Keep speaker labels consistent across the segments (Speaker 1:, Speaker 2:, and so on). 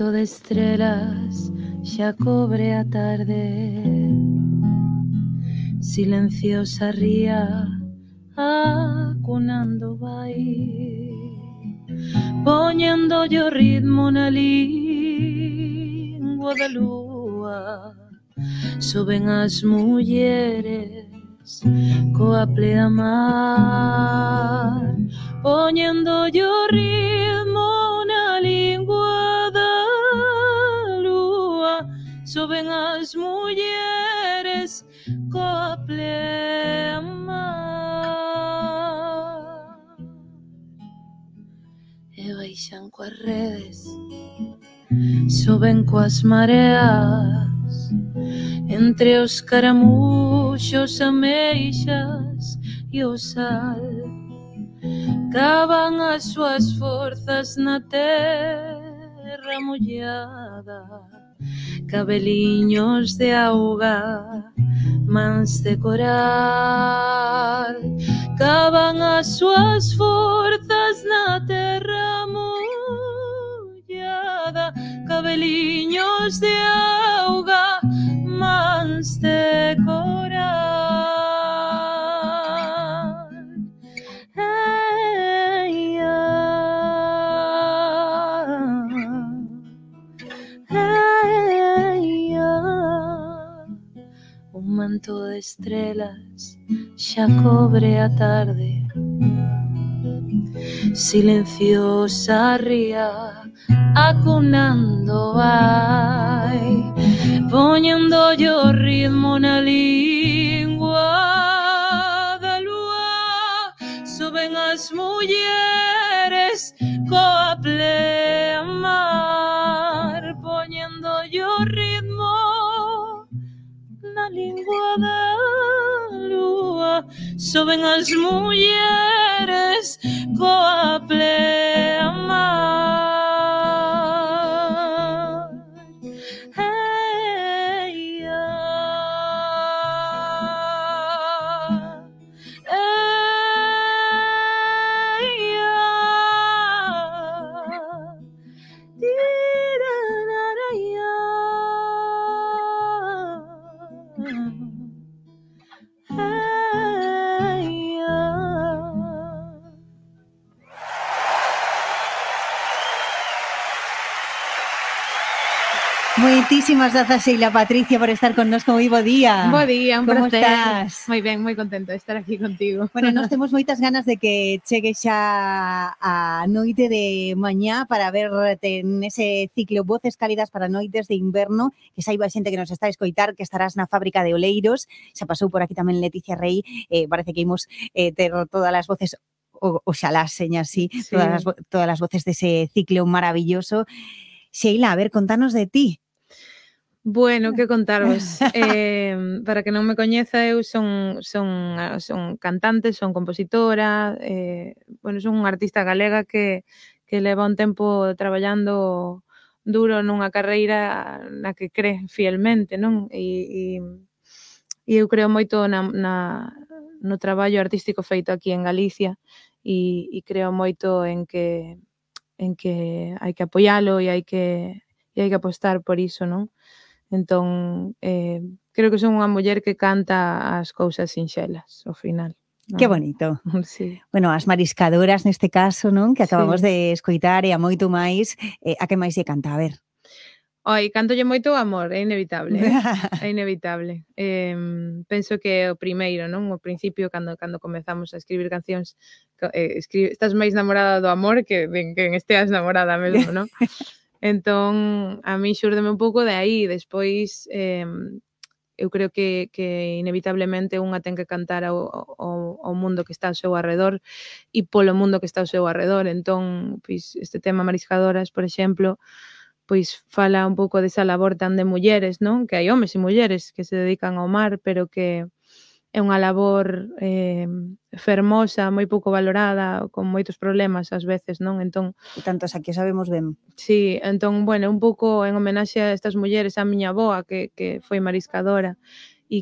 Speaker 1: manto de estrelas xa cobre a tarde, silenciosa ría acunando vai, poñendo o ritmo na lingua da lúa. Soben as mulleres coa pleamar, poñendo o ritmo na lingua da lúa. Soben as mulleres coa pleamar e baixan coas redes, soben coas mareas, entre os caramuxos, ameixas e o sal. Cavan as súas forzas na terra mollada, cabeliños de auga, mans de coral. Cavan as súas forzas na terra mollada, cabeliños de auga, mans de coral. Hey, hey, un manto de estrelas xa cobre a tarde, silenciosa ría acunando vai, poñendo o ritmo na lingua da lúa. Soben as mulleres coa pleamar, poñendo o ritmo na lingua da lúa. Soben as mulleres coa pleamar. Hey,
Speaker 2: Moitísimas grazas, Sheila Patricia, por estar connosco. Moi bo día.
Speaker 3: Bo día, un
Speaker 2: Como
Speaker 3: placer.
Speaker 2: estás?
Speaker 3: Moi ben, moi contenta de estar aquí contigo.
Speaker 2: Bueno, nós temos moitas ganas de que chegue xa a noite de mañá para verte nese ciclo Voces Cálidas para noites de inverno, que saiba a xente que nos está a escoitar que estarás na fábrica de Oleiros. Xa pasou por aquí tamén Leticia Rey, parece que imos ter todas as voces, oxalá seña así,
Speaker 3: Sí.
Speaker 2: todas as voces dese ciclo maravilloso. Sheila, a ver, contanos de ti.
Speaker 3: Bueno, que contarvos. Para que non me coñeza, eu son cantante, son compositora, bueno, son unha artista galega que leva un tempo traballando duro nunha carreira na que cree fielmente, non? E eu creo moito no traballo artístico feito aquí en Galicia e creo moito en que hai que apoialo e hai que apostar por iso, non? Entón, creo que son unha muller que canta as cousas sinxelas, ao final.
Speaker 2: Que bonito.
Speaker 3: Sí.
Speaker 2: Bueno, as mariscadoras neste caso, non? Que acabamos
Speaker 3: Sí.
Speaker 2: de escoitar e a moito máis. A que máis lle canta? A ver.
Speaker 3: Oi, cántolle moito o amor, é inevitable, é inevitable. Penso que é o primeiro, non? O principio, cando comezamos a escribir cancións, estás máis namorada do amor que de quen esteas namorada mesmo, non? Entón, a mí xúrdeme un pouco de aí. Despois, eu creo que inevitablemente unha ten que cantar ao mundo que está ao seu arredor e polo mundo que está ao seu arredor. Entón, pois, este tema Mariscadoras, por exemplo, pois fala un pouco desa labor tan de mulleres, non? Que hai homes e mulleres que se dedican ao mar, pero que é unha labor fermosa, moi pouco valorada, con moitos problemas ás veces, non? Entón,
Speaker 2: E tantos aquí sabemos ben.
Speaker 3: sí, entón, bueno, un pouco en homenaxe a estas mulleres, a miña avoa que foi mariscadora,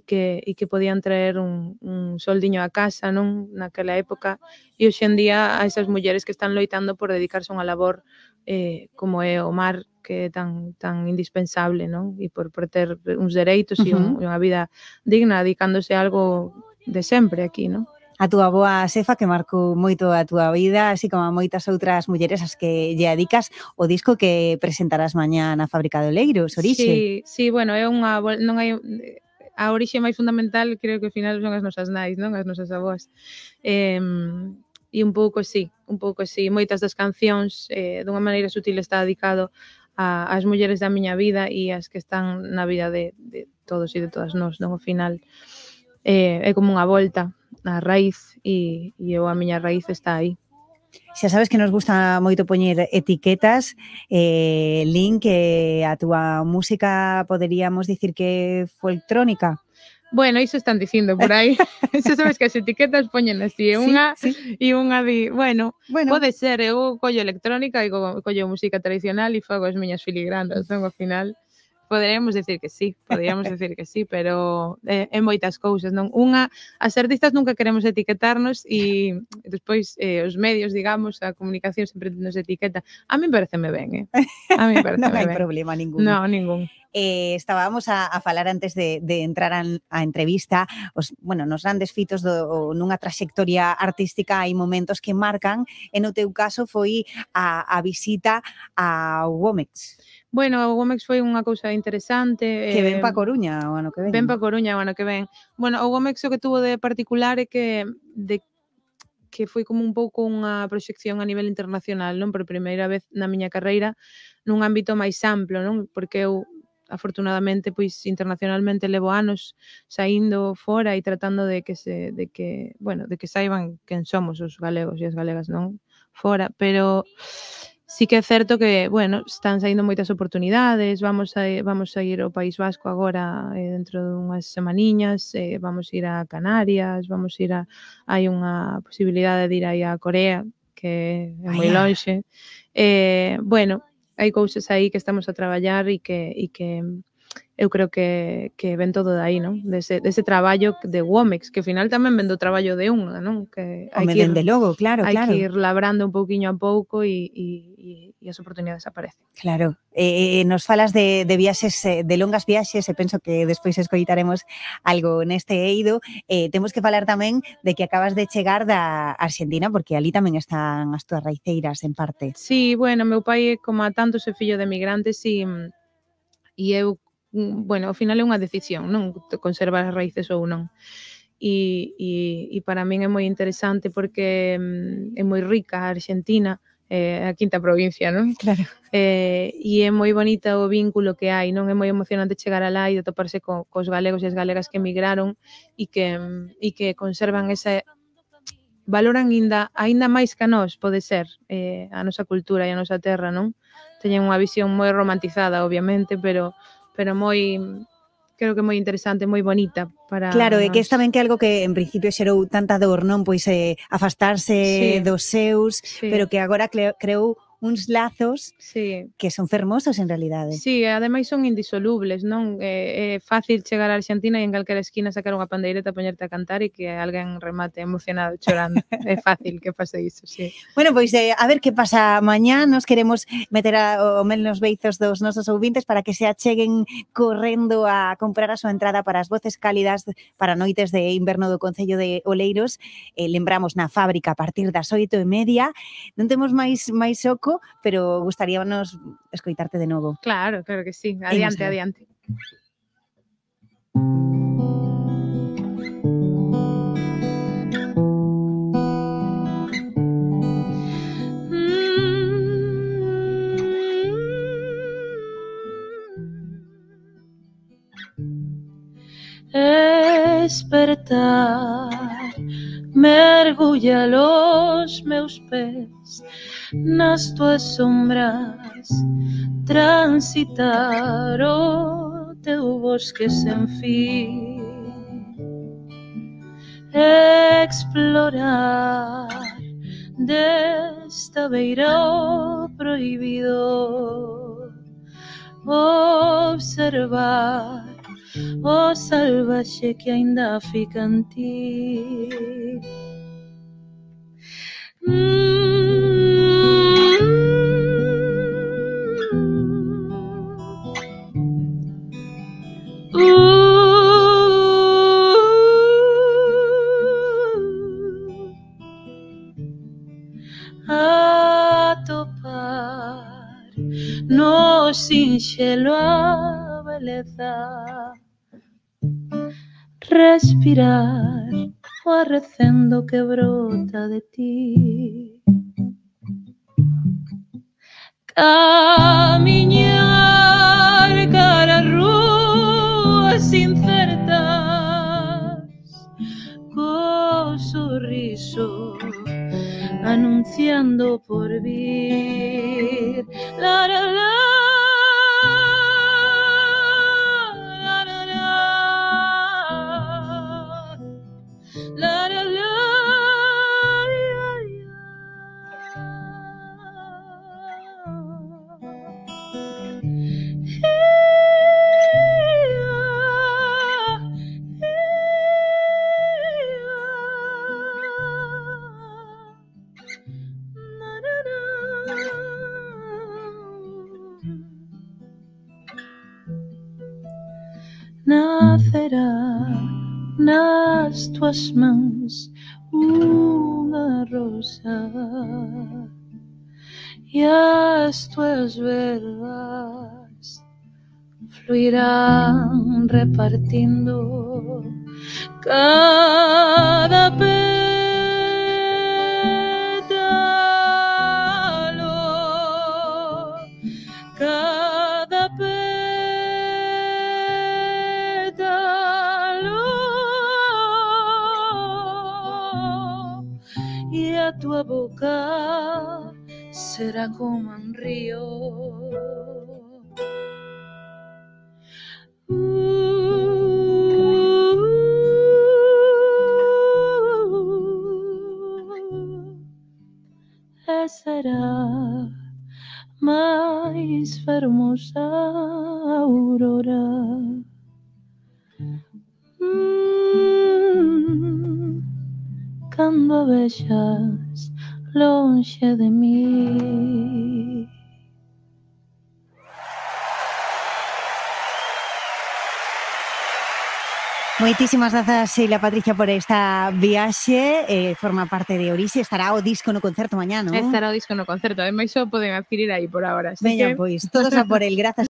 Speaker 3: que podían traer un soldiño a casa, non, naquela época, e hoxe en día a esas mulleres que están loitando por dedicarse a unha labor como é o mar, que é tan indispensable, non, e por ter uns dereitos e unha vida digna, dedicándose a algo de sempre aquí, non?
Speaker 2: A túa boa xefa que marcou moito a túa vida, así como a moitas outras mulleres as que lle dedicas o disco que presentarás mañá na Fábrica de Oleiros, Orixe.
Speaker 3: Sí, bueno, é non hai a orixe máis fundamental, creo que ao final son as nosas nais, non? As nosas avós. E un pouco sí, moitas das cancións dunha maneira sutil está dedicado ás mulleres da miña vida e as que están na vida de todos e de todas nós, non? Ao final é como unha volta a raíz e a miña raíz está aí.
Speaker 2: Xa sabes que nos gusta moito poñer etiquetas, Lin, que a túa música poderíamos dicir que é folctrónica.
Speaker 3: Bueno, iso están dicindo por aí. Xa sabes que as etiquetas poñen así, unha di, bueno, pode ser, eu collo electrónica e collo música tradicional e fago as miñas filigranas, non? Ao final poderíamos decir que sí, pero é moitas cousas, non? As artistas nunca queremos etiquetarnos e despois os medios, digamos, a comunicación sempre nos etiqueta. A mí pareceme ben, A mí pareceme
Speaker 2: non hai
Speaker 3: ben.
Speaker 2: problema ningún.
Speaker 3: No, ningún.
Speaker 2: Estábamos a falar antes de entrar a entrevista, nos grandes fitos nunha traxectoria artística hai momentos que marcan, e no teu caso foi a visita ao Womex.
Speaker 3: Bueno, o Womex foi unha cousa interesante.
Speaker 2: Que ven pa Coruña o ano que ven.
Speaker 3: Ven pa Coruña o ano que ven. Bueno, o Womex o que tuvo de particular é que foi como un pouco unha proxección a nivel internacional, non? Por primeira vez na miña carreira nun ámbito máis amplo, non? Porque eu afortunadamente, pois internacionalmente levo anos saindo fora e tratando de que saiban quen somos os galegos e as galegas, non? Fora, pero sí que é certo que, están saindo moitas oportunidades, vamos a ir ao País Vasco agora dentro dunhas semaniñas, vamos ir a Canarias, hai unha posibilidade de ir aí a Corea, que é moi lonxe. Hai cousas aí que estamos a traballar e que eu creo que ven todo de aí, non? Dese traballo de Womex, que ao final tamén ven do traballo de unha, non? Que hai que
Speaker 2: dende logo, claro.
Speaker 3: Hai que ir labrando un pouquiño a pouco e as oportunidades aparecen.
Speaker 2: Claro. Nos falas de viaxes, de longas viaxes, e penso que despois escoitaremos algo neste eido. Temos que falar tamén de que acabas de chegar da Arxentina, porque ali tamén están as túas raiceiras en parte.
Speaker 3: Sí, meu pai, como a tantos, é fillo de emigrantes e eu, ao final é unha decisión, non? Conservar as raíces ou non. E para min é moi interesante porque é moi rica a Arxentina, a quinta provincia, non?
Speaker 2: Claro.
Speaker 3: E é moi bonita o vínculo que hai, non? É moi emocionante chegar alá e toparse cos galegos e as galegas que emigraron e que conservan ese valoran aínda máis que a nós, pode ser, a nosa cultura e a nosa terra, non? Teñen unha visión moi romantizada, obviamente, pero moi, creo que moi interesante, moi bonita para
Speaker 2: Claro,
Speaker 3: nós.
Speaker 2: e que é tamén que algo que en principio xerou tanta dor, non? Pois afastarse dos seus, pero que agora creou uns lazos que son fermosos en realidade.
Speaker 3: Sí, ademais son indisolubles, non? É fácil chegar a Arxentina e en calquera esquina sacar unha pandeireta, poñerte a cantar e que alguén remate emocionado chorando. É fácil que pase iso, sí.
Speaker 2: Bueno, pois a ver que pasa mañá. Nos queremos meter o mel nos beizos dos nosos ouvintes para que se acheguen correndo a comprar a súa entrada para as voces cálidas para noites de inverno do Concello de Oleiros. Lembramos na Fábrica a partir das 8:30. Non temos máis oco, pero gustaríanos escoitarte de novo.
Speaker 3: Claro que sí. Adiante.
Speaker 1: Despertar mergulla los meus pés nas tuas sombras, transitar o teu bosque sen fin, explorar desta beira o prohibido, observar o salvaxe que aínda fica en ti. A topar no sinxelo a beleza, respirar o arrecendo que brota de ti, camiñar cara a rúas incertas co sorriso anunciando por vir. La, la, la, la, la, la, la, la, nacerá nas tuas mãos unha rosa e as tuas verbas fluirán repartindo cada pétalo, cada pétalo, e a tua boca será como un río. E será máis fermosa aurora. Cando a vexas lonxe de mí.
Speaker 2: Moitísimas grazas, Sheila Patricia, por esta viaxe. Forma parte de Orixe. Estará o disco no concerto mañá, non?
Speaker 3: Estará o disco no concerto. Ademais, só poden adquirir aí por agora.
Speaker 2: Veña, pois, todos a por el. Grazas.